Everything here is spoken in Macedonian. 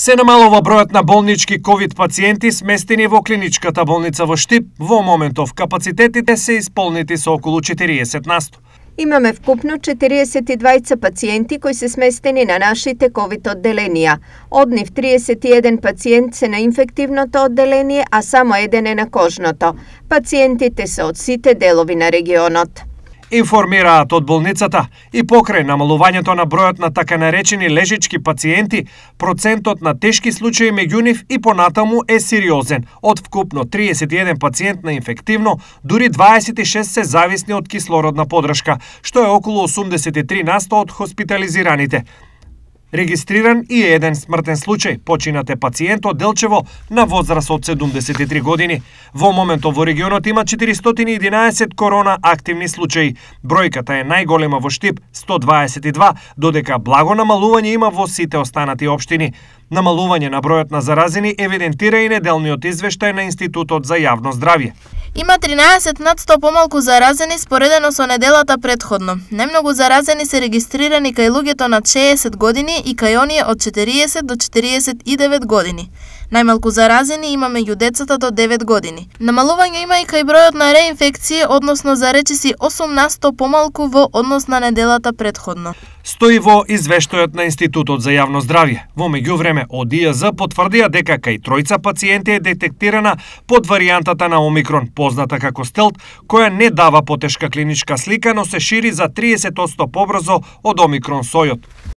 Се намалува бројот на болнички ковид пациенти сместени во клиничката болница во Штип. Во моментов капацитетите се исполнети со околу 40%. Имаме вкупно 42 пациенти кои се сместени на нашите ковид одделенија. Од нив 31 пациент се на инфективното одделение, а само еден е на кожното. Пациентите се од сите делови на регионот. Информираат од болницата и покрај намалувањето на бројот на така наречени лежички пациенти, процентот на тешки случаи меѓу нив и понатаму е сериозен. Од вкупно 31 пациент на инфективно, дури 26 се зависни од кислородна подршка, што е околу 83% од хоспитализираните. Регистриран и е еден смртен случај. Починат е пациент од Делчево на возраст од 73 години. Во моментов во регионот има 411 корона активни случаи. Бројката е најголема во Штип, 122, додека благо намалување има во сите останати општини. Намалување на бројот на заразени евидентира и неделниот извештај на Институтот за јавно здравје. Има 13% помалку заразени споредено со неделата претходно. Најмногу заразени се регистрирани кај луѓето над 60 години и кај оние од 40 до 49 години. Најмалку заразени има меѓу децата до 9 години. Намалување има и кај бројот на реинфекции, односно за речиси 8% помалку во однос на неделата претходно. Стои во извештајот на Институтот за јавно здравје. Во меѓувреме од ИЈЗ потврдија дека кај тројца пациенти е детектирана под варијантата на Омикрон, позната како стелт, која не дава потешка клиничка слика, но се шири за 30% побрзо од Омикрон сојот.